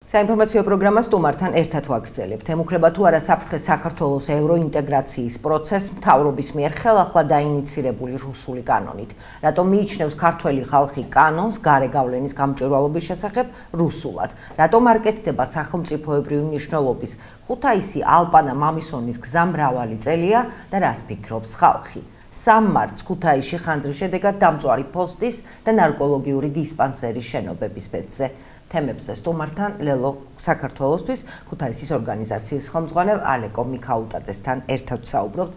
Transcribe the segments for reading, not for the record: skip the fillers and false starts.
საინფორმაციო პროგრამა სტუმართან ერთად ვაგრძელებთ. ემუქრება თუ არა საფრთხეს საქართველოს ევროინტეგრაციის პროცესს მთავრობის მიერ ხელახლა დაინიცირებული რუსული კანონით. რატომ მიიჩნევს ქართველი ხალხი კანონს გარე გავლენის გამჭვირვალობის შესახებ რუსულად? რატომ არ კეთდება სახელმწიფოებრივი მნიშვნელობის ხუთაისი ალპანა მამისონის გზა მრავალი წელია და რას ფიქრობს ხალხი? 3 მარტს ქუთაისში ხანძრის შედეგად დამწვარი პოსტის და ნარკოლოგიური დისპანსერის შენობების ბედზე. თემებზე სტუმართან ლელო საქართველოსთვის ქუთაისის ორგანიზაციის ხელმძღვანელ ალეკო მიქაუტაძესთან ერთად საუბრობთ.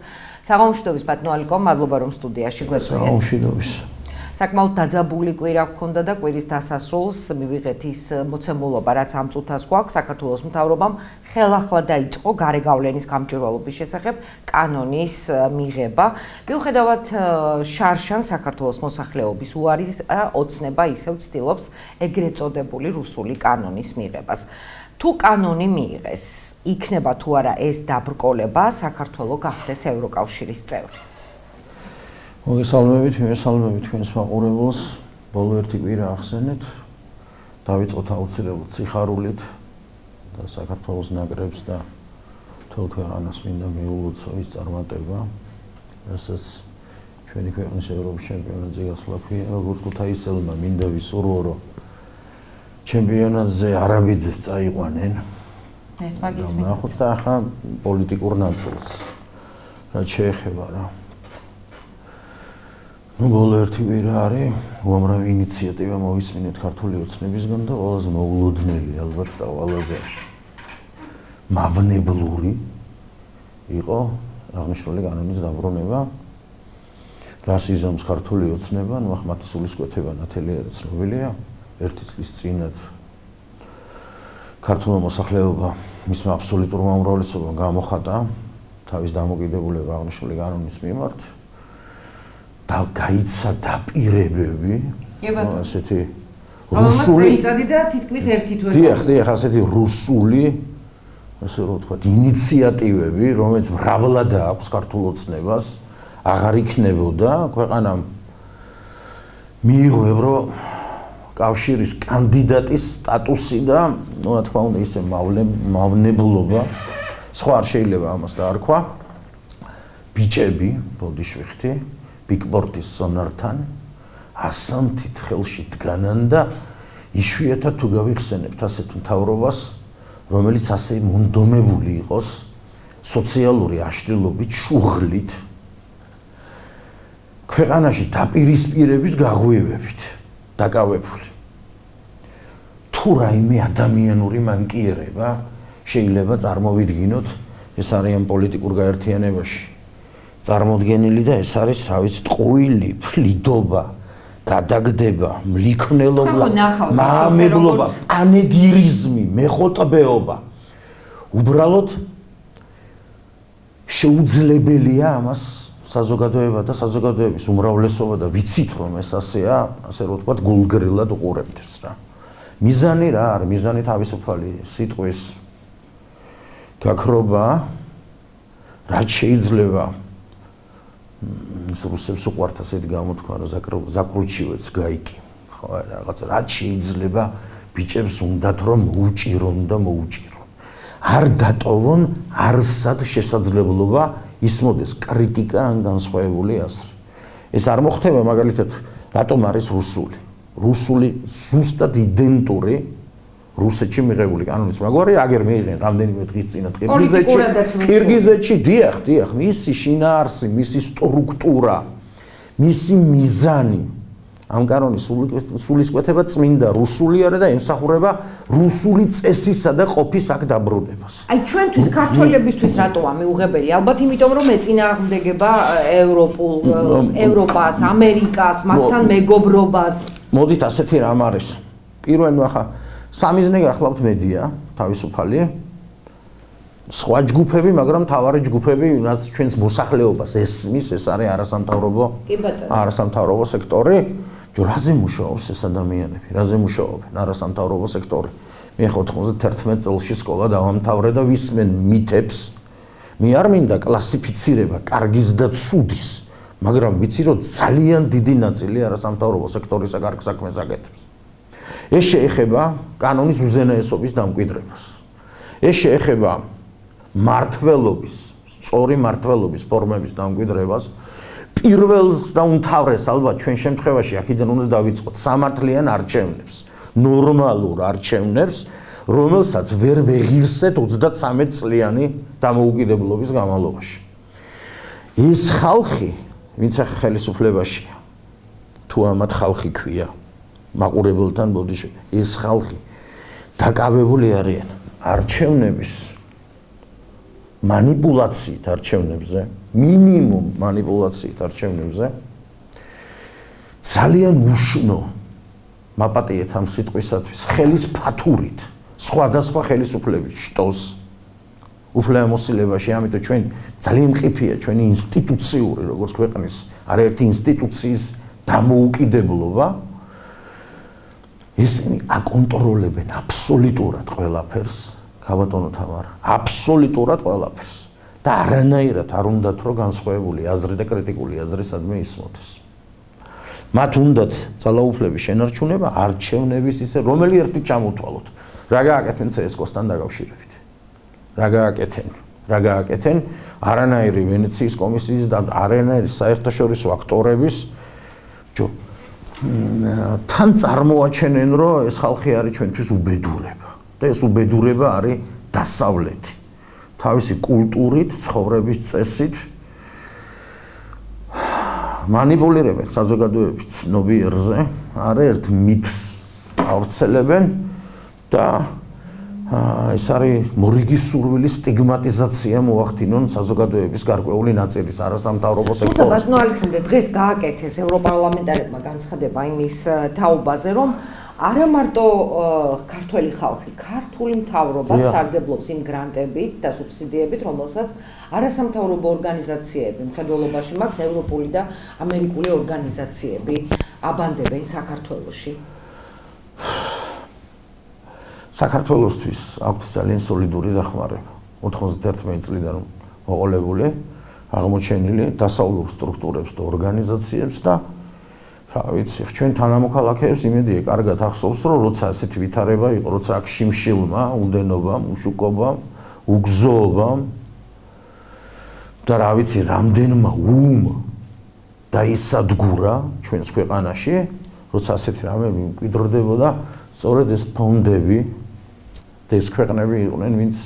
საღამოშვიდობის ბატონო ალეკო, მადლობა რომ სტუდიაში გვეწვიეთ. საღამოშვიდობის. საკმაოდ დაძაბული კვირა გქონდა და კვირის დასასრულს მივიღეთ ის მოცემულობა, რაც ამ წუთას გვაქვს. საქართველოს მთავრობამ ხელახლა დაიწყო გარე გავლენის გამჭვირვალობის შესახებ კანონის მიღება. მიუხედავად შარშან საქართველოს მოსახლეობის უარის ოცნება ისევ ცდილობს ეგრეთ წოდებული რუსული კანონის მიღებას. თუ კანონი მიიღეს, იქნება თუ არა ეს დაბრკოლება საქართველოს გახდეს ევროკავშირის წევრი? მოგესალმებით თქვენს მაყურებელს. ბოლო ერთი კვირა ახსენეთ. დავიწყოთ აუცილებლად სიხარულით და საქართველოს ნაკრებს და მთელ ქვეყანას მინდა მიულოცო ის წარმატება, რასაც ჩვენი ქვეყნის ევროპის ჩემპიონატზე გასვლა ქვია. როგორც ქუთაისელმა მინდა ვისურვო, რომ ჩემპიონატზე არაბიძეს წაიყვანენ. ეს მაგის ნახოთ და ახლა პოლიტიკურ ნაწილს რაც შეეხება რა. ბოლო ერთი კვირა არის უამრავი ინიციატივა მოვისმინეთ ქართული ოცნებისგან და ყველაზე მოულოდნელი ალბათ და ყველაზე მავნებლური იყო აღნიშნული კანონის დაბრუნება. რას იზამს ქართული ოცნება, ნუ ახმათი სულისკვეთება ნათელია ცნობილია. 1 წლის წინათ ქართული მოსახლეობა მისმა აბსოლუტურმა უმრავლესობამ გამოხატა თავის დამოკიდებულება აღნიშნული კანონის მიმართ. და გაიცა დაპირებები, ასეთი რუსული წელი და თითქმის ერთი თვე. დიახ, ასეთი რუსული, ასე რომ ვთქვა, ინიციატივები, რომელიც მრავლად აქვს ქართულ ოცნებას, აღარ იქნებოდა ქვეყანამ მიიღო ევროკავშირის კანდიდატის სტატუსი და, ну, რა თქმა უნდა, ისე მავნებლობა, სხვა არ შეიძლება ამას დაარქვა. ბიჭები, ბოდიშვიხთი ბიგპორტის სონართან ასანთით ხელში დგანან და იშვიათად თუ გავიხსენებთ ასეთ მთავრობას, რომელიც ასე მონდომებული იყოს სოციალური აშლილობით, შუღლით, ქვეყანაში დაპირისპირების გაღვივებით დაკავებული. თუ რაიმე ადამიანური მანკიერება შეიძლება წარმოვიდგინოთ, ეს არიან პოლიტიკურ გაერთიანებაში წარმოდგენილი და ეს არის, რა ვიცი, ტყუილი, ფლიდობა, გადაგდება, მლიქნელობა, მაამებლობა, პანეგირიზმი, მეხოტბეობა. უბრალოდ შეუძლებელია ამას საზოგადოება და საზოგადოების უმრავლესობა და ვიცით რომ ეს ასეა, ასე რომ ვთქვათ, გულგრილად უყურებდეს რა. მიზანი რა არის? მიზანი თავისუფალი სიტყვის გაქრობა, რაც შეიძლება რუსებს უყვართ ასეთი გამოთქვა, რომ ზაკრუჩივეც გაიკი. ხო, რაღაც რაც შეიძლება ბიჭებს უნდათ რომ მოუჭირონ და მოუჭირონ. არ დატოვონ არსად შესაძლებლობა ისმოდეს კრიტიკა ან განსხვავებული აზრი. ეს არ მოხდება მაგალითად, რატომ არის რუსული? რუსული ზუსტად იდენტური რუსეთში მიღებული კანონის მაგვარი აგერ მიიღენ რამდენიმე დღის წინათ ყირგიზეთში, დიახ, მისი შინაარსი, მისი სტრუქტურა, მისი მიზანი ამ კანონის სულისკვეთება წმინდა რუსული არა და ემსახურება რუსული წესისა და ყოფის აქ დაბრუნებას. აი ჩვენთვის ქართველებისთვის რატოა მიუღებელი? ალბათ იმიტომ რომ ეწინააღმდეგება ევროპას, ამერიკას, მათთან მეგობრობას. მოდით ასეთი რამ არის. პირველ ახლა სამიზნე გახლავთ მედია, თავისუფალი, სხვა ჯგუფები, მაგრამ თავარი ჯგუფები, რაც ჩვენს მოსახლეობას ესმის, ეს არის არასამთავრობო სექტორი. რაზე მუშაობს ეს ადამიანები? რაზე მუშაობენ არასამთავრობო სექტორი? მე 91 წელში სკოლა დავამთავრე და ვისმენ მითებს. მე არ მინდა კლასიფიცირება კარგის და ცუდის, მაგრამ ვიცი რომ ძალიან დიდი ნაწილი არასამთავრობო სექტორის კარგ საქმეს აკეთებს. ეს შეეხება კანონის უზენაესობის დამკვიდრებას. ეს შეეხება მართლობის, სწორი მართლობის ფორმების დამკვიდრებას. პირველს და უმთავრეს ალბათ ჩვენ შემთხვევაში აქედან უნდა დავიწყოთ სამართლიან არჩევნებს, ნორმალურ არჩევნებს, რომელსაც ვერ ვეღირსეთ 33 წლიანი დამოუკიდებლობის განმავლობაში. ეს ხალხი, ვინც ახლა ხელისუფლებაშია, თუ ამათ ხალხი ქვია, მაყურებელთან ბოდიშვილი, ეს ხალხი დაკავებული არიან არჩევნების манипуляციით არჩევნებზე, მინიმუმ манипуляციით არჩევნებზე, ძალიან უშნო მაპატიეთ ამ სიტყვისათვის, ხელის ფათურით, სხვადასხვა ხელისუფლების შტოს უფლებამოსილებაში, ამიტომ ჩვენ ძალიან მყიფეა ჩვენი ინსტიტუციური, როგორც ქვეყნის არაერთი ინსტიტუციის დამოუკიდებლობა, ისინი აკონტროლებენ აბსოლუტურად ყველაფერს. ქაბატონო თამარა, აბსოლუტურად ყველაფერს და არანაირად არ უნდათ რომ განსხვავებული აზრი და კრიტიკული აზრისადმი ისმოთეს. მათ უნდათ ძალაუფლების შენარჩუნება, არჩევნების ისე რომელი ერთი ჩამოთვალოთ. რა გააკეთენ CSKO-სთან დაკავშირებით? რა გააკეთენ არანაირი ვენეციის კომისიის და არანაირი საერთაშორისო აქტორების თან წარმოაჩენენ რომ ეს ხალხი არის ჩვენთვის უბედურება. და ეს უბედურება არის დასავლეთი. თავისი კულტურით, ცხოვრების წესით манипуლირებენ საზოგადოების ცნობიერზე, არაერთ მითს ავრცელებენ და ეს არის მორიგი სურვილის სტიგმატიზაცია მოახდინონ საზოგადოების გარკვეული ნაწილის არასამთავრობო სექტორის. ბატონო ალექსანდრე, დღეს გააკეთეს ევროპარლამენტარებმა განცხადება იმის თაობაზე, რომ არა მარტო ქართველი ხალხი, ქართული მთავრობა სარგებლობს იმ გრანტებით და სუბსიდიებით, რომელსაც არასამთავრობო ორგანიზაციები, მხედველობაში მაქვს ევროპული და ამერიკული ორგანიზაციები აბანდებენ საქართველოში. საქართველოსთვის აქვს ძალიან სოლიდური დახმარება. 91 წლიდან მოყოლებული, აღმოჩენილი დასავლურ სტრუქტურებს და ორგანიზაციებს და რა ვიცი, ჩვენ თანამოქალაქეებს იმედია კარგად ახსოვს, რომ როცა ასეთი ვითარება იყო, როცა აქ შიმშილმა, უდენობამ, უშუქობამ, უგზოობამ და რა ვიცი, რამდენმა დაისადგურა ჩვენს ქვეყანაში, როცა ასეთი რამე მკვიდრდებოდა, სწორედ ეს ფონდები და ეს ქვეყნები იყვნენ, ვინც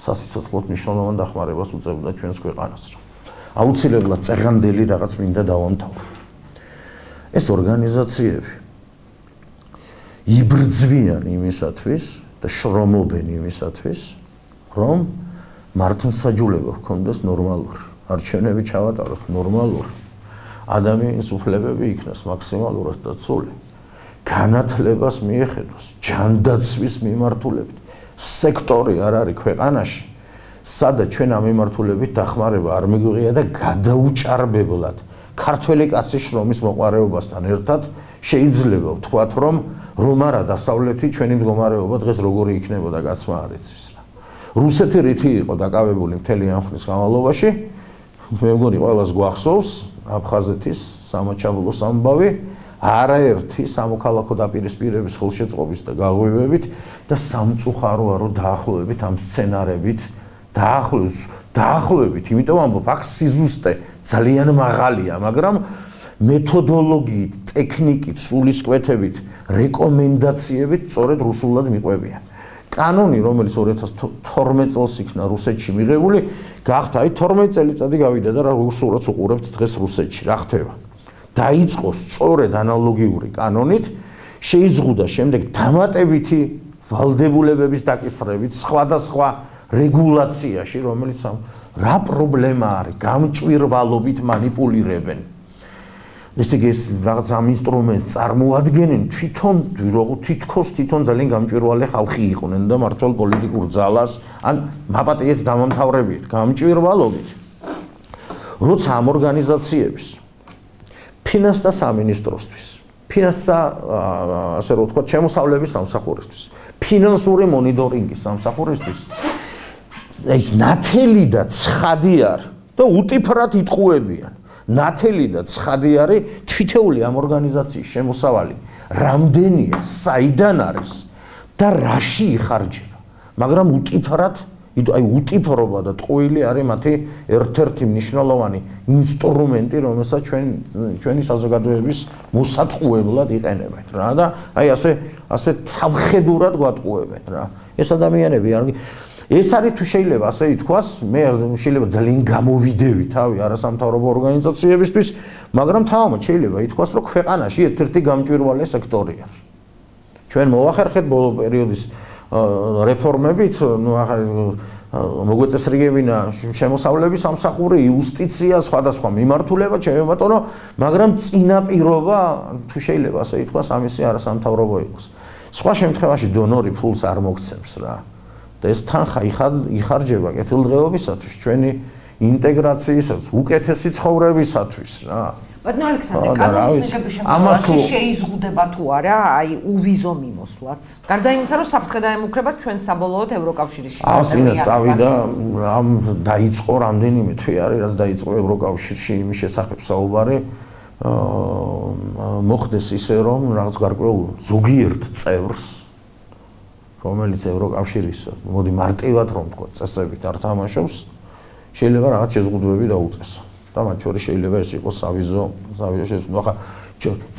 სასიცოცხლოდ მნიშვნელოვან დახმარებას უწევდა ჩვენს ქვეყანას. აუცილებლად წეღანდელი რაღაც მინდა დავამთავრო. ეს ორგანიზაციები იბრძვიან იმისათვის და შრომობენ იმისათვის, რომ მართლმსაჯულება ჰქონდეს ნორმალური, არჩევნები ჩავატაროთ ნორმალური, ადამიანის უფლებები იქნას მაქსიმალურად დაცული, განათლებას მიეხედოს, ჯანდაცვის მიმართულებით. სექტორი არ არის ქვეყანაში, სადაც ჩვენ ამ მიმართულებით დახმარება არ მიგვიღია და გადაუჭარბებლად ქართველი კაცის შრომის მოყარეობასთან ერთად შეიძლება ვთქვათ, რომ არა დასავლეთი ჩვენი მდგომარეობა დღეს როგორი იქნებოდა გაცმა არ იცის რა. რუსეთი რითი იყო დაკავებული მთელი ამ ხნის განმავლობაში, მე მგონი ყველას გვახსოვს აფხაზეთის სამაჩაბლოს ამბავი, არაერთი სამოქალაქო დაპირისპირების ხელშეწყობის და გაღვივებით და სამწუხაროა დაახლოებით ამ სცენარებით დაახლოებით, იმიტომ ამბობ, აქ სიზუსტე ძალიან მაღალია, მაგრამ მეთოდოლოგიით, ტექნიკით, სულისკვეთებით, რეკომენდაციებით სწორედ რუსულად მიყვებიან. კანონი, რომელიც 2012 წელს იქნა რუსეთში მიღებული, გახდა 12 წელიწადი გავიდა და რუსულად უყურებთ დღეს რუსეთში, რა ხდება? დაიწყო სწორედ ანალოგიური კანონით, შეიზღუდა შემდეგ დამატებითი ვალდებულებების დაკისრებით სხვადასხვა რეგულაციაში, რომელიც რა პრობლემა არის, გამჭვირვალობით манипуლირებენ. ესე იგი, რაღაც ამ ინსტრუმენტს წარმოადგენენ თითქოს ძალიან გამჭვირვალე ხალხი იყვნენ და მართლ პოლიტიკურ ძალას, ან მაპატიეთ დამამთავრებიეთ, გამჭვირვალობით. როცა ამ ორგანიზაციების ფინანსთა სამინისტროსთვის, ფინანსთა, ასე რომ ვთქვათ, შემოსავლების სამსახურისთვის, ფინანსური მონიტორინგის სამსახურისთვის ეს ნათელი და ცხადი არის და უტიფრად იტყუებიან. ნათელი და ცხადი არის თითოეული ამ ორგანიზაციის შემოსავალი რამდენია, საიდან არის და რაში იხარჯება. მაგრამ უტიფრად, უტიფრობა და ტყუილი არის მათი ერთ-ერთი მნიშვნელოვანი ინსტრუმენტი, რომელსაც ჩვენი საზოგადოების მოსატყუებლად იყენებენ რა და ასე თავხედურად გვატყუებენ რა. ეს ადამიანები ეს არის თუ შეიძლება ასე ითქვას, მე შეიძლება ძალიან გამოვიდევი თავი არასამთავრობო ორგანიზაციებისთვის, მაგრამ თავად შეიძლება ითქვას, რომ ქვეყანაში ერთ-ერთი გამჭვირვალე სექტორი არის. ჩვენ მოახერხეთ ბოლო პერიოდის რეფორმებით, მოგვეწესრიგებინა შემოსავლების სამსახური, იუსტიცია, სხვადასხვა მიმართულება, ჩემო ბატონო, მაგრამ წინაპირობა თუ შეიძლება ასე ითქვას, ამისი არასამთავრობო იყოს. სხვა შემთხვევაში დონორი ფულს არ მოგცემს რა. და ეს თანხა იხარჯება კეთილდღეობისათვის, ჩვენი ინტეგრაციისათვის, უკეთესი ცხოვრებისათვის რა. ბატონო ალექსანდრე, კანონის მიღების შემთხვევაში შეიზღუდება თუ არა აი უვიზო მიმოსვლაც? გარდა იმისა, რომ საფრთხე დაემუქრებას ჩვენ საბოლოოდ ევროკავშირის შეტანილი წავიდა, ამ დაიწყო რამდენიმე თვე არის, რაც დაიწყო ევროკავშირში იმის შესახებ საუბარი, მოხდეს ისე, რომ რაღაც გარკვეულ ზოგიერთ წევრს რომელიც ევროკავშირის მოდი მარტივად რომ თქვა წესებით არ თამაშობს შეიძლება რაღაც შეზღუდვები დაუწესო და მათ შორის შეიძლება ეს იყოს სავიზო შეზღუდვა ხა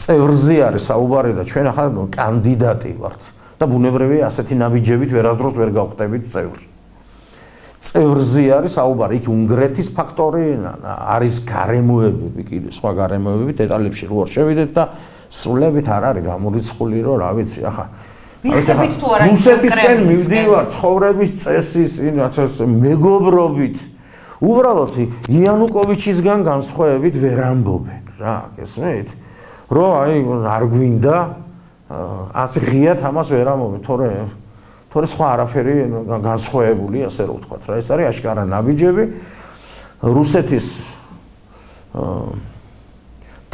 წევრზე არის საუბარი და ჩვენ ახლა კანდიდატი ვართ და ბუნებრივია ასეთი ნაბიჯებით ვერასდროს ვერ გავხდებით წევრი წევრზე არის საუბარი იქ უნგრეთის ფაქტორი არის გარემოებები კიდე სხვა გარემოებები დეტალებში რო შევიდეთ და სრულებით არ არის გამორიცხული რომ რა ვიცი ახლა რუსეთისკენ მივდივარ ცხოვრების წესის მეგობრობით უბრალოდ იანუკოვიჩისგან განსხვავებით ვერ ამბობენ რა გესმით რომ აი არ გვინდა ასე ღიად ამას ვერ ამბობენ თორე სხვა არაფერი განსხვავებული ასე რომ ვთქვათ რა ეს არის აშკარა ნაბიჯები რუსეთის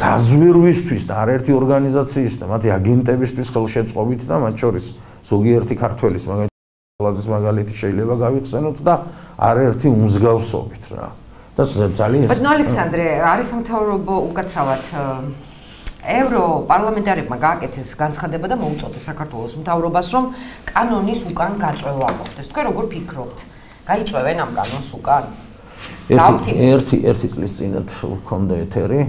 დაზვერვისთვის და არაერთი ორგანიზაციის და მათი აგენტებისთვის ხელშეწყობით და მათ შორის ზოგიერთი ქართველის მაგალითად მაგალითი შეიძლება გავიხსენოთ და არაერთი უმსგავსობით რა და ძალიან ბატონო ალექსანდრე არის სამთავრობო უკაცრავად ევროპარლამენტარებმა გააკეთეს განცხადება და მოუწოდეს საქართველოს მთავრობას რომ კანონის უკან გაწევა მოხდეს თქვენ როგორ ფიქრობთ გაიწევენ ამ კანონს უკან ერთი წლის წინათ ვქონდა ეთერი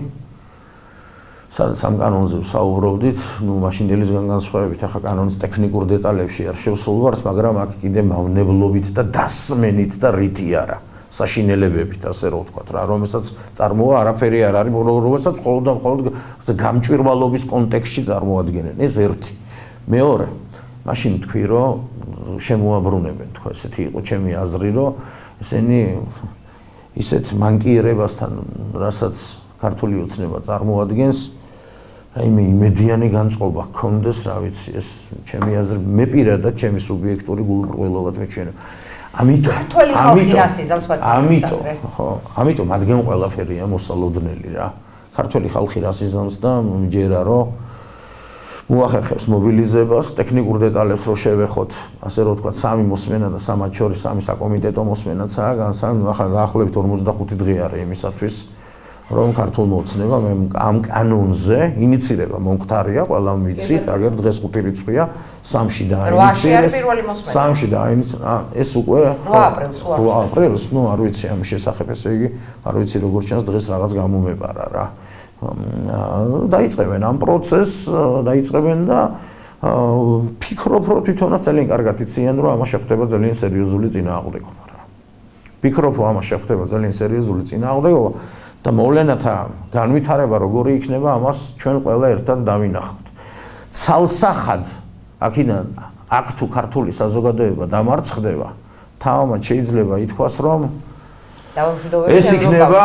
სადაც ამ კანონზე ვსაუბრობდით, მაშინდელისგან განსხვავებით, ახლა კანონის ტექნიკურ დეტალებში არ შევსულვართ, მაგრამ აქ კიდე მავნებლობით და დასმენით და რითი არა, საშინელებებით, ასე რომ ვთქვათ რა, რომელსაც წარმოა არაფერი არ არის, რომელსაც მხოლოდ გამჭვირვალობის კონტექსტში წარმოადგენენ. ეს ერთი. მეორე, მაშინ თქვი, რომ შემოაბრუნებენ, თქვა, ესეთი იყო ჩემი აზრი, რომ ესენი ისეთ მანკიერებასთან, რასაც ქართული ოცნება წარმოადგენს აი მე იმედიანი განწყობა გქონდეს, რა ვიცი, ეს ჩემი აზრი, მე პირადად ჩემი სუბიექტური გულყრველობად მეჩვენება. ამიტომ ადგენ ყველაფერია მოსალოდნელი რა. ქართველი ხალხი რას იზამს და მჯერა რომ მოახერხებს მობილიზებას, ტექნიკურ დეტალებს რო შევეხოთ, ასე რომ ვთქვათ, სამი მოსმენა და სამად შორის სამი საკომიტეტო მოსმენაცაა, ახლა დაახლოებით 45 დღე არის იმისათვის რომ ქართულმა ოცნებამ ამ კანონზე ინიცირება მომხდარია, ყველა ვიცით, აგერ დღეს 5 რიცხვია, 3-ში დაინიცირეს. 3-ში დაინიცირეს. ეს უკვე 8 აპრილს, ნუ არ ვიცი ამის შესახებ, ესე იგი, არ ვიცი როგორ ჩანს დღეს რაღაც გამომეპარა რა. დაიწყებენ ამ პროცესს, დაიწყებენ და ფიქრობ, რომ თვითონაც ძალიან კარგად იციან, რომ ამას შეხვდება ძალიან სერიოზული წინააღმდეგობა რა. ფიქრობ, რომ ამას შეხვდება ძალიან სერიოზული წინააღმდეგობა და მოვლენათა განვითარება როგორი იქნება, ამას ჩვენ ყველა ერთად დავინახავთ. ცალსახად აქედან აქ თუ ქართული საზოგადოება დამარცხდება, თავად შეიძლება ითქვას, რომ ეს იქნება,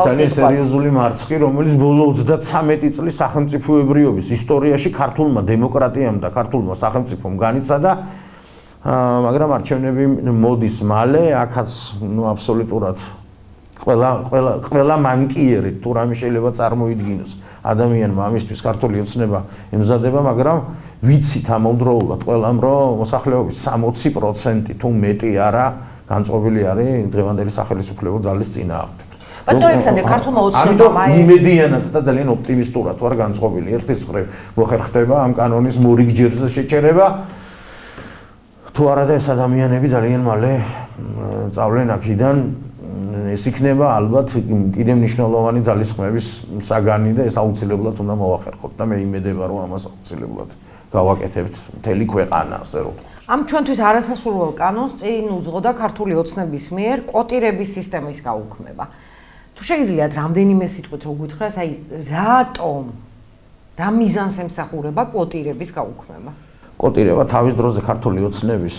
ძალიან სერიოზული მარცხი, რომელიც ბოლო 33 წლის სახელმწიფოებრიობის ისტორიაში ქართულმა დემოკრატიამ და ქართულმა სახელმწიფომ განიცადა, მაგრამ არჩევნები მოდის მალე, აქაც აბსოლუტურად ყველა მანკიერი თუ რამე შეიძლება წარმოიდგინოს ადამიანმა ამისთვის ქართული ოცნება ემზადება, მაგრამ ვიცით ამავდროულად ყველამ, რომ მოსახლეობის 60% თუ მეტი არა განწყობილი არის დღევანდელი სახელმწიფო ძალის წინააღმდეგ. ბატონ ალექსანდრე, ქართულმა ოცნებამ ამიტომ იმედიანად და ძალიან ოპტიმისტურად ვარ განწყობილი. ერთის მხრივ მოხერ ხდება ამ კანონის მორიგჯერზე შეჭერება. თუ არა და ეს ადამიანები ძალიან მალე წავლენ აქედან, ეს იქნება ალბათ კიდევ მნიშვნელოვანი ძალისხმევის საგანი და ეს აუცილებლად უნდა მოახერხოთ და მე იმედება რომ ამას აუცილებლად გავაკეთებთ მთელი ქვეყანა, ასე რომ. ამ ჩვენთვის არასასურველ კანონს წინ უძღოდა ქართული ოცნების მიერ კვოტირების სისტემის გაუქმება. თუ შეგიძლიათ რამდენიმე სიტყვით რო გითხრას, აი რატომ რა მიზანს ემსახურება კვოტირების გაუქმება? კვოტირება თავის დროზე ქართული ოცნების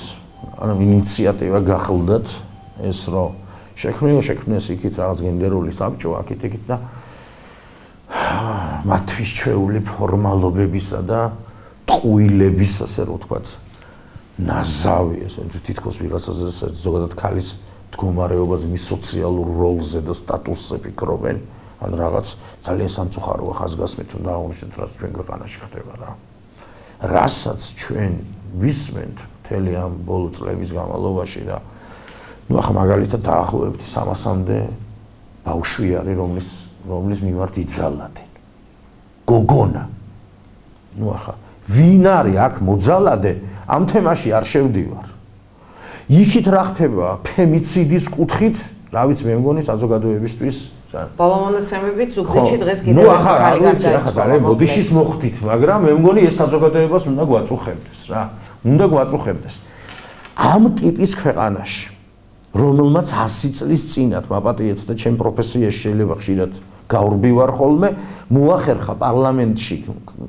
ინიციატივა გახლდათ ეს რომ შექმნეს იქით რაღაც გენდერული საბჭო აქეთ და მათთვის ჩვეული ფორმალობებისა და ტყუილების ასე რომ ვთქვათ ნაზავი ესე თითქოს ვიღაცაზე ზოგადად ქალის მდგომარეობაზე მის სოციალურ როლზე და სტატუსზე ფიქრობენ ან რაღაც ძალიან სამწუხაროა ხაზგასმით უნდა აღნიშნოთ რაც ჩვენ ქვეყანაში ხდება რა რასაც ჩვენ ვისმენთ მთელი ამ ბოლო წლების განმავლობაში და ну ახლა მაგალითად დაახლოებით 300-მდე ბავშვი არის რომლის მიმართ იძალადენ გოგონა ну ახლა ვინ არის აქ მოძალადე ამ თემაში არ შევდივარ იქით რა ხდება ფემიციდის კუთხით რა ვიცი მე მგონი საზოგადოებისთვის ბოლო მონაცემებით ზუგდიდში დღეს კიდევ ერთი ხალი გარდაიცვალა ახლა ძალიან ბოდიშის მოხდით მაგრამ მე მგონი ეს საზოგადოებას უნდა გვაწუხებდეს რა უნდა გვაწუხებდეს ამ ტიპის ქვეყანაში რომელმაც 100 წლის წინათ მაპატიეთ და ჩემ პროფესიაში შეიძლება ხშირად გაურბივარ ხოლმე მოახერხა პარლამენტში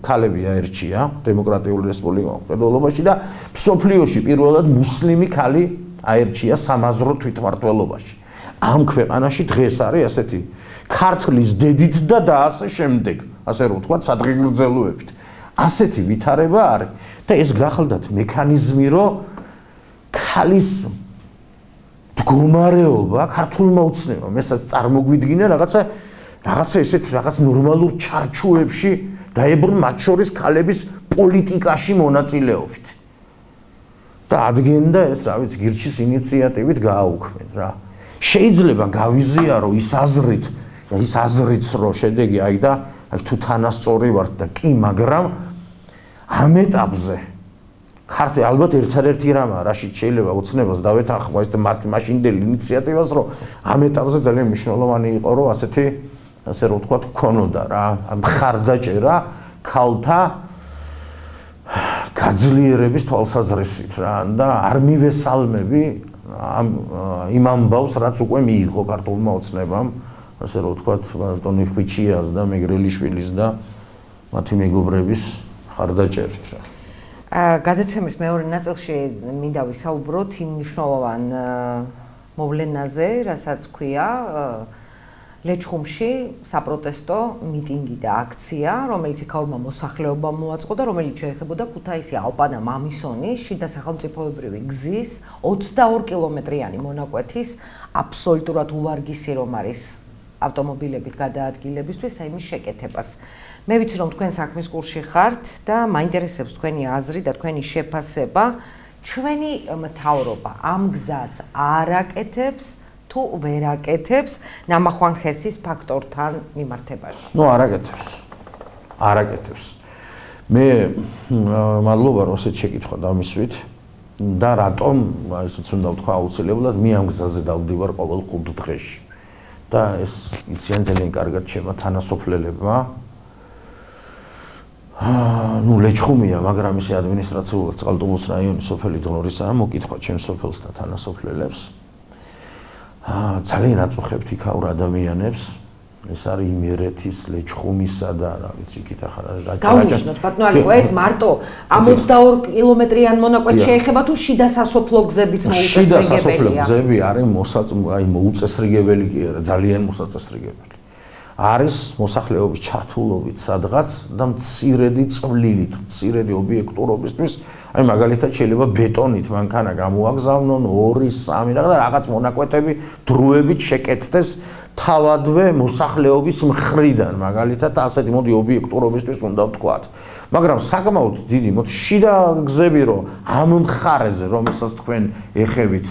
ქალები აერჩია დემოკრატიული რესპუბლიკის მხედველობაში და მსოფლიოში პირველად მუსლიმი ქალი აერჩია სამაზრო თვითმმართველობაში ამ ქვეყანაში დღეს არის ასეთი ქართლის დედით და ასე შემდეგ ასე რომ ვთქვათ სადღეგრძელოებით ასეთი ვითარება არის და ეს გახლდათ მექანიზმი რომ ქალის მდგომარეობა ქართულმა ოცნებამ ესაც წარმოგვიდგინა რაღაცა ესეთ რაღაც ნორმალურ ჩარჩოებში დაებრუნ მათ შორის ქალების პოლიტიკაში მონაწილეობით და ადგენდა ეს რა ვიცი გირჩის ინიციატივით გააუქმენ რა შეიძლება გავიზიარო ის აზრიც რომ შედეგი აი და აი თუ თანასწორი ვარ და კი მაგრამ ამ ეტაპზე ქართე ალბათ ერთადერთი რამაა რაშიც შეიძლება ოცნებას დავეთანხმო ეს მაშინდელი ინიციატივას რომ ამ ეტაპზე ძალიან მნიშვნელოვანი იყო რომ ასე რომ ვთქვათ ქონოდა რა მხარდაჭერა ქალთა გაძლიერების თვალსაზრისით რა და არ მივესალმები იმ ამბავს რაც უკვე მიიღო ქართულმა ოცნებამ ასე რომ ვთქვათ ბატონი ხვიჩიას და მეგრელიშვილის და მათი მეგობრების მხარდაჭერით რა გადაცემის მეორე ნაწილში მინდა ვისაუბროთ იმ მნიშვნელოვან მოვლენაზე, რასაც ქვია ლეჩხუმში საპროტესტო მიტინგი და აქცია, რომელიც იქაურმა მოსახლეობამ მოაწყო და რომელიც შეეხებოდა ქუთაისი ალპანა მამისონის შიდა სახელმწიფოებრივი გზის 22 კილომეტრიანი მონაკვეთის აბსოლუტურად უვარგისი რომ არის ავტომობილებით გადაადგილებისთვის, აი მის შეკეთებას. მე ვიცი რომ თქვენ საქმის კურსში ხართ და მაინტერესებს თქვენი აზრი და თქვენი შეფასება, ჩვენი მთავრობა ამ გზას არ აკეთებს თუ ვერ აკეთებს ნამახვან ხესის ფაქტორთან მიმართებაში? ნუ არ აკეთებს. მე მადლობა რომ ესეთ შეკითხვა დამისვით და რატომ ისიც უნდა ვთქვა აუცილებლად მე ამ გზაზე დავდივარ ყოველ 5 დღეში. და ეს იციან ძალიან კარგად ჩემო თანასოფლელებმა. ნუ ლეჩხუმია, მაგრამ ისე ადმინისტრაციულად წყალტუბოს რაიონის სოფელი დონორისაა, მოკითხვა ჩემს სოფელს და თანასოფლელებს. ძალიან აწუხებთ იქაურ ადამიანებს. ეს არის იმერეთის ლეჩხუმისა და რა ვიცი იქით ახლა რა გავუჩნოთ ბატონო ალიკო ეს მარტო ამ 22 კილომეტრიან მონაკვეთს შეეხება თუ შიდა სასოფლო გზებიც მოუწესრიგებელია? შიდა სასოფლო გზები არის მოუწესრიგებელი კი არა, ძალიან მოსაწესრიგებელი. არის მოსახლეობის ჩართულობით სადღაც და მცირედი წვლილით, მცირედი ობიექტურობისთვის, აი მაგალითად შეიძლება ბეტონით მანქანა გამოაგზავნონ 2-3 რაღაც მონაკვეთები დროებით შეკეთდეს თავადვე მოსახლეობის მხრიდან, მაგალითად ასეთი მოდი ობიექტურობისთვის უნდა ვთქვათ. მაგრამ საკმაოდ დიდი მოდი შიდა გზები რომ ამ მხარეზე რომელსაც თქვენ ეხებით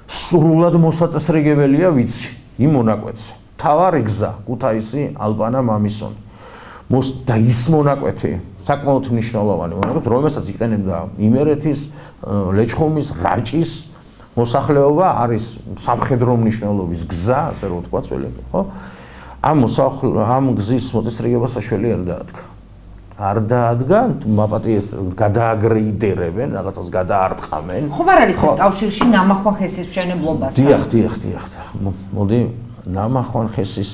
სრულად მოსაწესრიგებელია ვიცი იმ მონაკვეთზე. თავარი გზა ქუთაისი ალპანა მამისონი და ის მონაკვეთი საკმაოდ მნიშვნელოვანი მონაკვეთი რომელსაც იყენებდა იმერეთის ლეჩხუმის რაჭის მოსახლეობა არის სამხედრო მნიშვნელობის გზა ასე რომ ვთქვა ძველები ხო ამ გზის მოწესრიგება საშველი არ დაადგა მაპატიეთ გადააგრეიდერებენ რაღაცას გადაარტყამენ ხომ არ არის ეს კავშირში ნამახვან ხესის მშენებლობასთან დიახ მოდი ნამახვან ხესის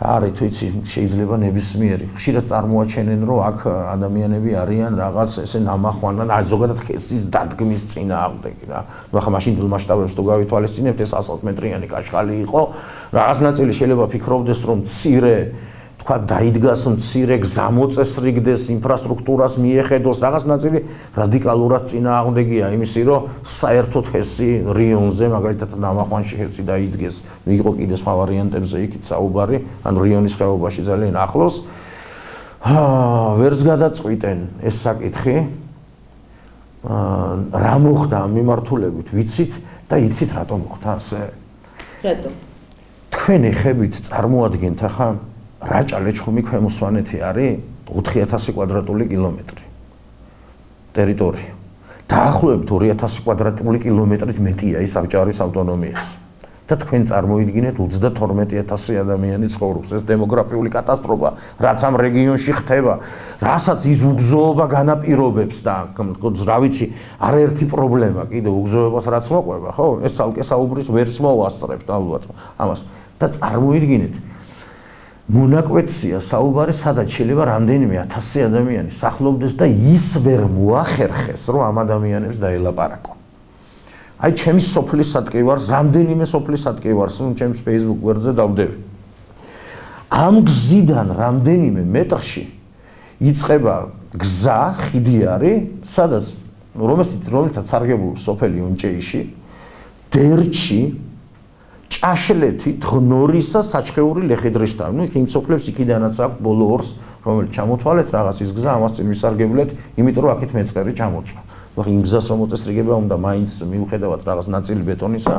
არის თვიცი შეიძლება ნებისმიერი ხშირად წარმოაჩენენ რომ აქ ადამიანები არიან რაღაც ესე ნამახვანან ზოგადად ხესის დადგმის წინააღმდეგი რა ნუ ახლა მაშინ მასშტაბებს თუ გავითვალისწინებთ ეს 100 მეტრიანი კაშხალი იყო რაღაც ნაწილი შეიძლება ფიქრობდეს რომ მცირე თქვა დაიდგას მცირე გზამოწესრიგდეს ინფრასტრუქტურას მიეხედოს რაღაც ნაწილი რადიკალურად წინააღმდეგია იმისი რომ საერთოდ ჰესი რიონზე მაგალითად ნამახვანში ჰესი დაიდგეს იყო კიდე სხვა ვარიანტებზე იქით საუბარი ან რიონის ხეობაში ძალიან ახლოს ვერც გადაწყვიტენ ეს საკითხი რა მოხდა ამ მიმართულებით ვიცით და იცით რატომ მოხდა ასე რატომ თქვენ ეხებით წარმოადგენთ ახლა რაჭა ლეჩხუმი ქვემო სვანეთი არის 4000 კვადრატული კილომეტრი ტერიტორია. დაახლოებით 2000 კვადრატული კილომეტრით მეტია ის საბჭოების ავტონომიას. და თქვენ წარმოიდგინეთ 32000 ადამიანი ცხოვრობს ეს დემოგრაფიული კატასტროფა რაც ამ რეგიონში ხდება რასაც ის უგზოობა განაპირობებს და რა ვიცი არაერთი პრობლემა კიდე უგზოებას რაც მოყვება ხო ეს ალკე საუბრის ვერც მოვასწრებთ ალბათ ამას და წარმოიდგინეთ მონაკვეთია საუბარი სადაც შეიძლება რამდენიმე 1000 ადამიანი სახლობდეს და ის ვერ მოახერხეს რომ ამ ადამიანებს დაელაპარაკო აი ჩემი სოფლის სატკივარს რამდენიმე სოფლის სატკივარს ჩემს Facebook გვერდზე დავდები ამ გზიდან რამდენიმე მეტრში იწყება გზა ხიდი არის სადაც რომელთაც სარგებლობს სოფელი უნჭეიში დერჩი ჭაშლეთი ღნორისა საჩხეური ლეხიდრისთან ნუ იმ სოფლებს იქიდანაც აქვს ბოლო ორს რომელიც ჩამოთვალეთ რაღაც ის გზა ამას წინ ვისარგებლეთ იმიტომ რომ აქეთ მეწყერი ჩამოწვა ხო იმ გზას რომ მოწესრიგება უნდა მაინც მიუხედავად რაღაც ნაწილი ბეტონისა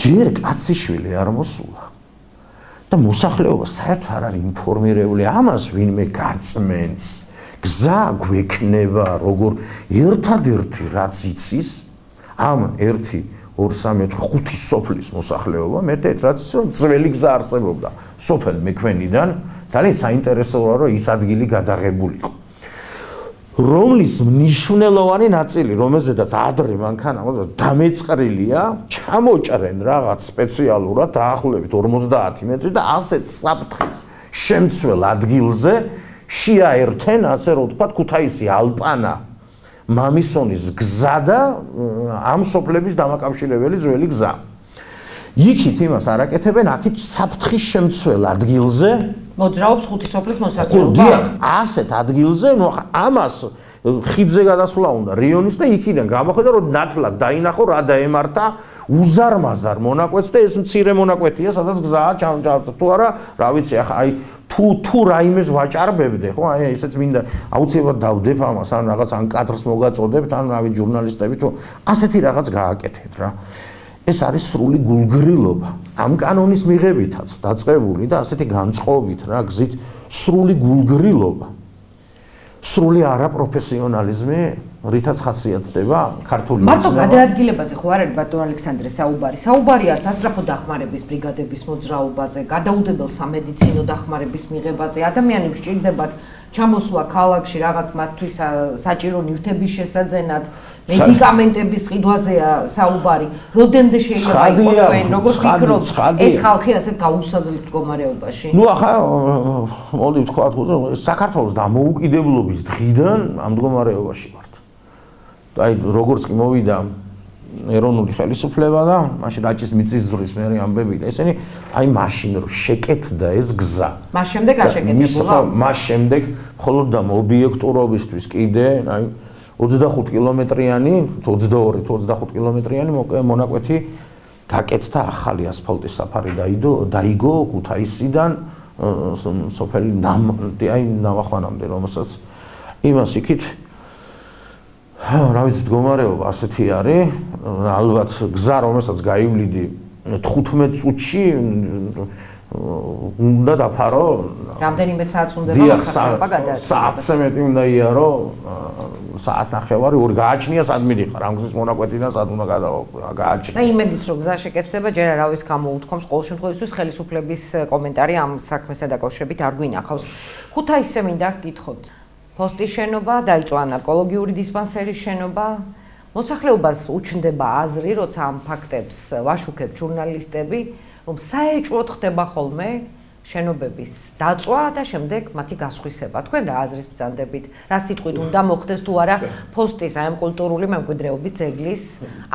ჯერ კაციშვილი არ მოსულა და მოსახლეობა საერთოდ არ არის ინფორმირებული ამას ვინმე გაწმენს გზა გვექნება როგორ ერთადერთი რაც იცის ამ 1-2-3-4-5 სოფლის მოსახლეობა მეტად რაც ძველი გზა არსებობდა სოფელ მექვენიდან ძალიან საინტერესოა რომ ის ადგილი გადაღებულიყო რომლის მნიშვნელოვანი ნაწილი რომელზედაც ადრე მანქანა დამეწყრილია ჩამოჭრენ რაღაც სპეციალურად დაახლოებით 50 მეტრი და ასეთ საფრთხის შემცველ ადგილზე შეაერთენ ასე რომ ვთქვათ ქუთაისი ალპანა მამისონის გზა და ამ სოფლების დამაკავშირებელი ძველი გზა. იქით იმას არაკეთებენ, აქეთ საფრთხის შემცველ ადგილზე მოძრაობს ხუთი სოფლის მოსახლეობა. დიახ, ასეთ ადგილზე, ნუ ამას ხიდზე გადასვლა უნდა რიონის და იქიდან გამოხედა რომ ნათლად დაინახო რა დაემართა უზარმაზარ მონაკვეთს და ეს მცირე მონაკვეთია, სადაც გზაა ჩამჭარბდა. თუ არა, რა ვიცი, ახლა აი თუ რაიმეს ვაჭარბებდე, ხო, აი ესეც მინდა აუცილებლად დავდებ ამას, ან რაღაც ან კადრს მოგაწოდებთ, ან რავი ჟურნალისტები თუ ასეთი რაღაც გააკეთეთ რა. ეს არის სრული გულგრილობა. ამ კანონის მიღებითაც დაწყებული და ასეთი განწყობით რა გზით სრული გულგრილობა. სრული არაპროფესიონალიზმი, რითაც ხასიათდება ქართული მარტო გადაადგილებაზე ხო არ არის ბატონ ალექსანდრე საუბარი. საუბარია სასწრაფო დახმარების ბრიგადების მოძრაობაზე, გადაუდებელ სამედიცინო დახმარების მიღებაზე. ადამიანებს სჭირდებათ ჩამოსვლა ქალაქში რაღაც მათთვის საჭირო ნივთების შესაძენად, მედიკამენტების ყიდვაზეა საუბარი. Rodende შეიძლება იყოს თქვენ, როგორ ფიქრობთ, ეს ხალხი ასეთ გაუსაძლებ მდგომარეობაში? ნუ ახლა მოდი ვთქვათ, საქართველოს დამოუკიდებლობის დღიდან ამ მდგომარეობაში ვართ. აი როგორც კი მოვიდა ეროვნული ხელისუფლება და მაშინ რაჭის მიწისძვრის მერი ამბები და ესენი აი მაშინ რომ შეკეთდა ეს გზა. მას შემდეგ არ შეკეთებულა? მას შემდეგ მხოლოდ და ობიექტურობისთვის კიდე აი 25 კილომეტრიანი, 22-25 კილომეტრიანი მონაკვეთი გაკეთდა ახალი ასფალტის საფარი დაიგო ქუთაისიდან სოფელი ნამახვანამდე, რომელსაც იმას იქით რა ვიცი მდგომარეობა ასეთი არის, ალბათ გზა რომელსაც გაივლიდი 15 წუთში უნდა დაფარო რამდენიმე საათს უნდა მოსახლეობა გადააწყვეტოს საათზე მეტი უნდა იარო საათნახევარი ორი გააჩნია სად მიდიხარ ამ გზის მონაკვეთიდან სად უნდა გააჩნია და იმედის რომ გზა შეკეთდება ჯერ არავის გამოუთქვამს ყოველ შემთხვევაში ხელისუფლების კომენტარი ამ საქმესთან დაკავშირებით არ გვინახავს ქუთაისზე მინდა გითხოთ პოსტის შენობა დაიწყო ანარკოლოგიური დისპანსერის შენობა მოსახლეობას უჩნდება აზრი როცა ამ ფაქტებს ვაშუქებ ჟურნალისტები რომ საეჭვოდ ხდება ხოლმე შენობების დაწვა და შემდეგ მათი გასხვისება. თქვენ რა აზრის ბრძანდებით? რა სიტყვით უნდა მოხდეს თუ არა პოსტის აი ამ კულტურული მემკვიდრეობის ძეგლის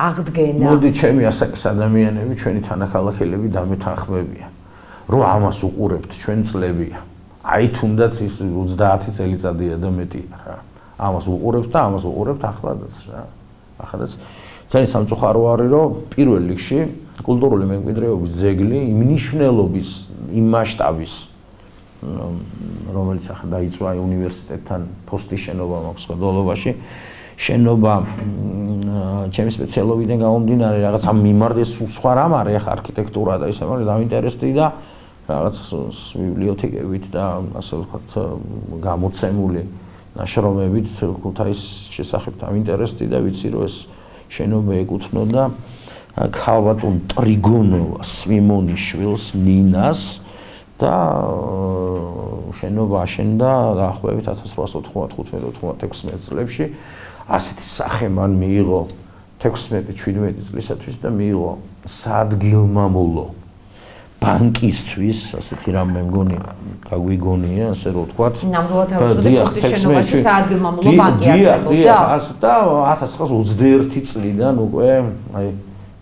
აღდგენა? მოდი ჩემი ასაკის ადამიანები, ჩვენი თანახმადებლები დამეთანხმებიან, რომ ამას უყურებთ ჩვენ წლებია. აი თუნდაც ის 30 წელიწადია და მეტია რა. ამას უყურებთ და ამას უყურებთ ახლადაც რა. ახლადაც ძალიან სამწუხარო არის რომ პირველ რიგში კულტურული მემკვიდრეობის ძეგლი იმ ნიშნულობის იმ მასშტაბის რომელიც ახლა დაიწყო უნივერსიტეტთან პოსტის შენობა მაქვს ხელდოლობაში შენობა ჩემი სპეციალობიდან გამომდინარე რაღაც ამ მიმართ სულ სხვა რამ არის ახლა არქიტექტურა და ისე მაგრამ დაინტერესდი და რაღაც ბიბლიოთეკებით და ასე ვთქვათ გამოცემული ნაშრომებით ქუთაის შესახებ დაინტერესდი და ვიცი რომ ეს შენობა ეკუთვნოდა ქალბატონ ტრიგონოვას სვიმონიშვილს ნინას და შენობა აშენდა დაახლოებით 1895-96 წლებში ასეთი სახე მან მიიღო 16-17 წლისათვის და მიიღო საადგილმამულო ბანკისთვის ასეთი რამ მე მგონი გაგვიგონია ასე რომ ვთქვათ ნამდვილად არ ვიცოდი პოსტის შენობაში საადგილმამულო ბანკი არსებობდა და 1921 წლიდან უკვე აი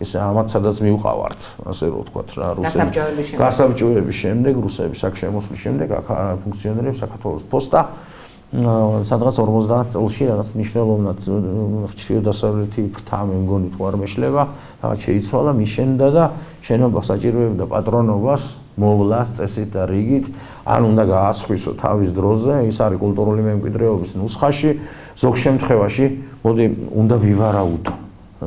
ეს ამათ სადაც მივყავართ ასე რომ ვთქვათ რა გასაბჭოების შემდეგ რუსების აქ შემოსვლის შემდეგ აქ ფუნქციონირებს საქართველოს პოსტა სადღაც 50 წელში რაღაც მნიშვნელოვნად ჩრდილო-დასავლეთი ფრთა მე მგონი თუ არ მეშლება რაღაც შეიცვალა მიშენდა და შენობა საჭიროებდა პატრონობას მოვლას წესით და რიგით ან უნდა გაასხვისო თავის დროზე ის არის კულტურული მემკვიდრეობის ნუსხაში ზოგ შემთხვევაში მოდი უნდა ვივარაუდო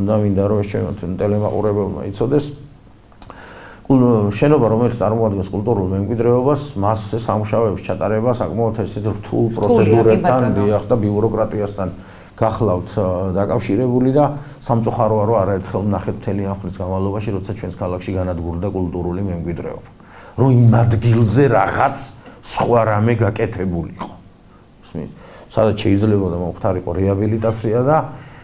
და მინდა რომ ეს ჩვენ ტელემაყურებელმა იცოდეს შენობა რომელიც წარმოადგენს კულტურულ მემკვიდრეობას მასზე სამუშაოების ჩატარება საკმაოდ ესეთ რთულ პროცედურებთან დიახ და ბიუროკრატიასთან გახლავთ დაკავშირებული და სამწუხაროა რომ არაერთხელ ვნახეთ მთელი ამ ხნის განმავლობაში როცა ჩვენს ქალაქში განადგურდა კულტურული მემკვიდრეობა რომ იმ ადგილზე რაღაც სხვა რამე გაკეთებულიყო ისმის სადაც შეიძლება და მომხდარიყო რეაბილიტაცია და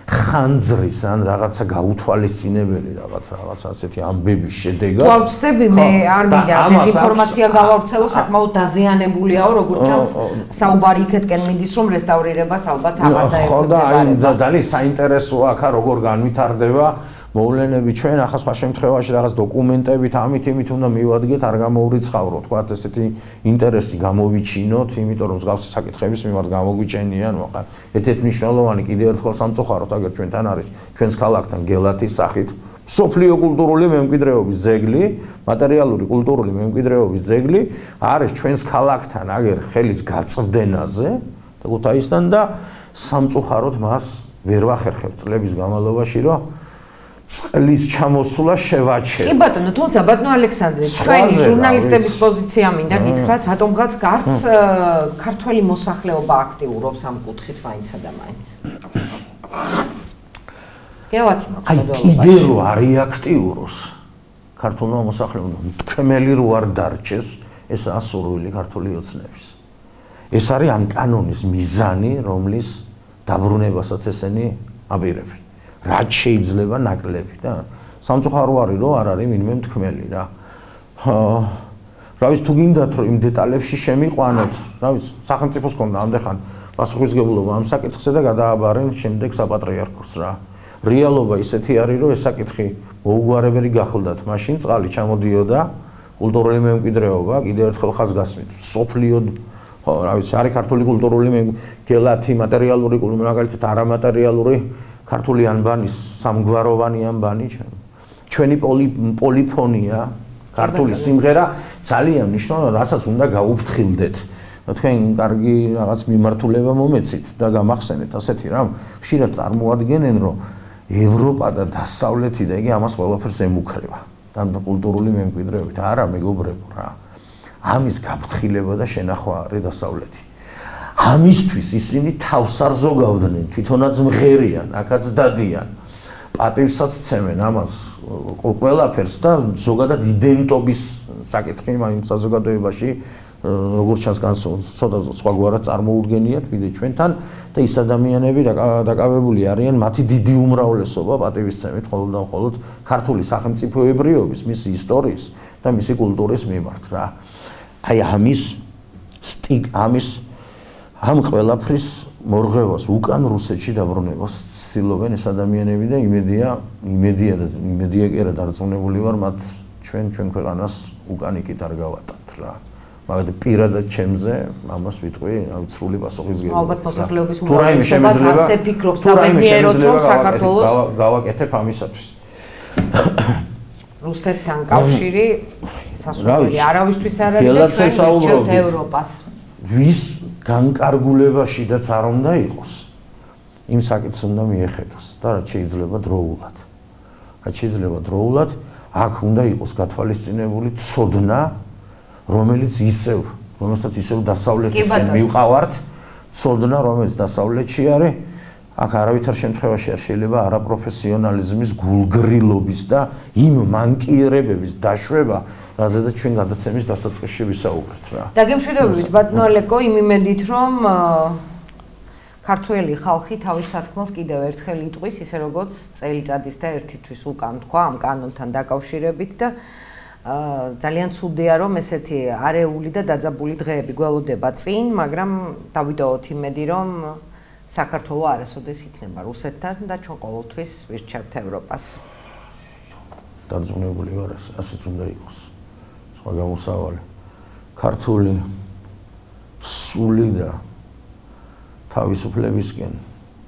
ხანძრის ან რაღაცა გაუთვალისწინებელი რაღაცა ასეთი ამბების შედეგად. ვავწდები მე არ მინდა დეზინფორმაცია გავავრცელო, საკმაოდ დაზიანებულია, როგორც ჩანს, საუბარი იქეთკენ მიდის, რომ რესტავრირებას ალბათ აღარ დაეკვირდება. ხო და აი ძალიან საინტერესოა აქ როგორ განვითარდება მოვლენები ჩვენ ახლა სხვა შემთხვევაში რაღაც დოკუმენტებით ამით იმით უნდა მივადგეთ არ გამოვრიცხავრო თქვა ესეთი ინტერესი გამოვიჩინოთ იმიტომ რომ მსგავსი საკითხების მიმართ გამოგვიჩენიან მოყარ ერთ-ერთი მნიშვნელოვანი კიდევ ერთხელ სამწუხაროდ აგერ ჩვენთან არის ჩვენს ქალაქთან გელათის სახით სოფლიო კულტურული მემკვიდრეობის ძეგლი მატერიალური კულტურული მემკვიდრეობის ძეგლი არის ჩვენს ქალაქთან აგერ ხელის გაწვდენაზე და ქუთაისთან და სამწუხაროდ მას ვერ ვახერხებ წლების განმავლობაში რომ წყლის ჩამოსვლა შევაჩერე. კი ბატონო, თუმცა ბატონო ალექსანდრე, ჩვენი ჟურნალისტების პოზიცია მინდა გითხრათ, რატომღაც გარც ქართველი მოსახლეობა აქტიურობს ამ კუთხით მაინცა და მაინც. გელათი მაქვს. კიდე რო არის აქტიუროს ქართულმა მოსახლეობამ თქმელი რო არ დარჩეს, ეს ასურვილი ქართული ოცნების. ეს არის ამ კანონის მიზანი, რომლის დაბრუნებასაც ესენი აპირებენ. რაც შეიძლება ნაკლები და სამწუხარო არის რომ არ არის ვინმე მთქმელი რა. რა ვიცი თუ გინდათ რომ იმ დეტალებში შემიყვანოთ, რა ვიცი სახელმწიფოს კონდა ამდეხან პასუხისმგებლობა ამ საკითხზე და გადააბარენ შემდეგ საპატრიარქოს რა. რეალობა ისეთი არის რომ ეს საკითხი მოუგვარებელი გახლდათ, მაშინ წყალი ჩამოდიოდა კულტურული მემკვიდრეობა კიდევ ერთხელ ხაზგასმით. სოფლიოდ ხო რა ვიცი არის ქართული კულტურული გელათი მატერიალური კულტურული მაგალითად არამატერიალური ქართული ანბანის სამგვაროვანი ანბანი ჩვენი პოლიფონია ქართული სიმღერა ძალიან მნიშვნელოვანია რასაც უნდა გაუფრთხილდეთ თქვენ კარგი რაღაც მიმართულება მომეცით და გამახსენეთ ასეთი რამ ხშირად წარმოადგენენ რომ ევროპა და დასავლეთი და იგი ამას ყველაფერს ემუქრება და კულტურული მემკვიდრეობით. არა, მეგობრებო რა. ამის გაფრთხილება და შენახვა არის დასავლეთი. ამისთვის ისინი თავს არ ზოგავდნენ, თვითონაც მღერიან, აქაც დადიან. პატივსაც ცემენ ამას ყველაფერს და ზოგადად იდენტობის საკითხი იმ საზოგადოებაში როგორც ჩანს ცოტა სხვაგვარად წარმოუდგენიათ ვიდრე ჩვენთან და ის ადამიანები დაკავებული არიან მათი დიდი უმრავლესობა პატივისცემით მხოლოდ და მხოლოდ ქართული სახელმწიფოებრიობის, მისი ისტორიის და მისი კულტურის მიმართ რა. აი ამის ამ ყველაფრის მორღევას უკან რუსეთში დაბრუნებას ცდილობენ ეს ადამიანები და იმედია კი არა დარწმუნებული ვარ მათ ჩვენ ქვეყანას უკან იქით არ გავატანთ რა. მაგრამ პირადად ჩემზე ამას ვიტყვი, სრული პასუხისმგებლობა. ალბათ მოსახლეობის უმრავლესობას ასე ფიქრობს სამედიეროდ რომ საქართველოს გავაკეთებ ამისათვის. რუსეთთან კავშირი სასურველი არავისთვის არ არის და ჩვენ ვირჩევთ ევროპას. ვის განკარგულებაში და არ უნდა იყოს იმ საკითხს უნდა მიეხედოს და რაც შეიძლება დროულად აქ უნდა იყოს გათვალისწინებული ცოდნა რომელსაც ისევ დასავლეთისკენ მივყავართ ცოდნა რომელიც დასავლეთში არის აქ არავითარ შემთხვევაში არ შეიძლება არაპროფესიონალიზმის გულგრილობის და იმ მანკიერებების დაშვება რაზედაც ჩვენ გადაცემის დასაწყისში ვისაუბრეთ რა. დაგემშვიდობებით ბატონო ალეკო იმ იმედით რომ ქართველი ხალხი თავის სათქმელს კიდევ ერთხელ იტყვის ისე როგორც წელიწადის და ერთი თვის უკან თქვა ამ კანონთან დაკავშირებით და ძალიან ცუდია რომ ესეთი არეული და დაძაბული დღეები გველოდება წინ, მაგრამ დავიტოვოთ იმედი რომ საქართველო არასოდეს იქნება რუსეთთან და ჩვენ ყოველთვის ვირჩევთ ევროპას. დარწმუნებული ვარ ასეც უნდა იყოს. სხვა გამოსავალი ქართული სული და თავისუფლებისკენ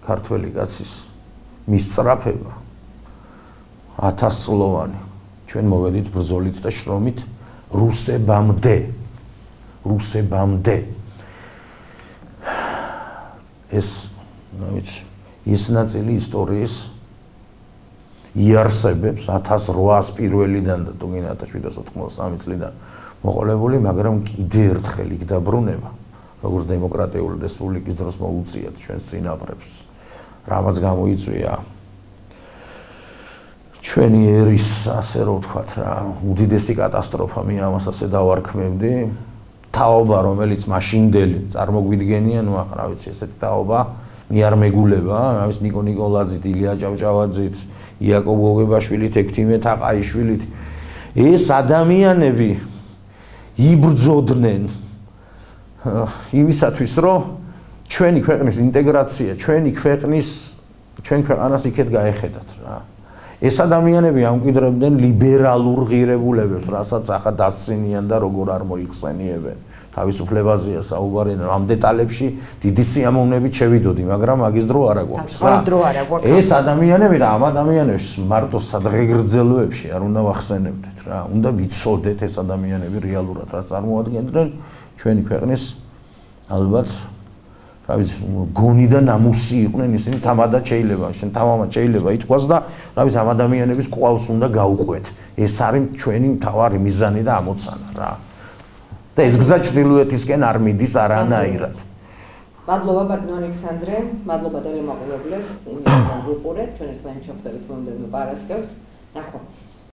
ქართველი კაცის მისწრაფება 1000 წლოვანი ჩვენ მოვედით ბრძოლით და შრომით რუსებამდე ეს ნაწილი ისტორიის იარსებებს 1800 პირველიდან და თუნდაც 1793 წლიდან მოყოლებული, მაგრამ კიდე ერთხელ იქ დაბრუნება, როგორც დემოკრატიული რესპუბლიკის დროს მოუწიათ ჩვენს წინაპრებს. რამაც გამოიწვია ჩვენი ერის, ასე რომ ვთქვათ რა, უდიდესი კატასტროფა, მე ამას ასე დავარქმევდი. თაობა, რომელიც მაშინდელი წარმოგვიდგენია, ნუ ახლა რა ვიცი, ესეთი თაობა მე არ მეგულება, რა ვიცი, ნიკო ნიკოლაძით, ილია ჭავჭავაძით, იაკობ გოგებაშვილით, ექვთიმე თაყაიშვილით. ეს ადამიანები იბრძოდნენ იმისათვის, რომ ჩვენი ქვეყნის ინტეგრაცია, ჩვენ ქვეყანას იქეთ გაეხედათ რა. ეს ადამიანები ამკვიდრებდნენ ლიბერალურ ღირებულებებს, რასაც ახლა დასცინიან და როგორ არ მოიხსენიებენ. თავისუფლებაზეა საუბარი, ამ დეტალებში დიდი სიამოვნებით შევიდოდი, მაგრამ მაგის დრო არ აგვაქვს რა. ეს ადამიანები და ამ ადამიანებს მარტო სადღეგრძელოებში არ უნდა ვახსენებდეთ რა. უნდა ვიცოდეთ ეს ადამიანები რეალურად რა წარმოადგენდნენ ჩვენი ქვეყნის ალბათ რა ვიცი, გონი და ნამუსი იყვნენ ისინი თამადად შეიძლება ითქვას და რა ვიცი, ამ ადამიანების ყვალს უნდა გაუყვეთ. ეს არის ჩვენი მთავარი მიზანი და ამოცანა რა. და ეს გზა ჩრდილოეთისკენ არ მიდის არანაირად. მადლობა ბატონო ალექსანდრე, მადლობა ტელემაყურებლებს, იმედია გვიყურეთ, ჩვენ ერთმანეთს შევხვდებით მომდევნო პარასკევს, ნახვამდის.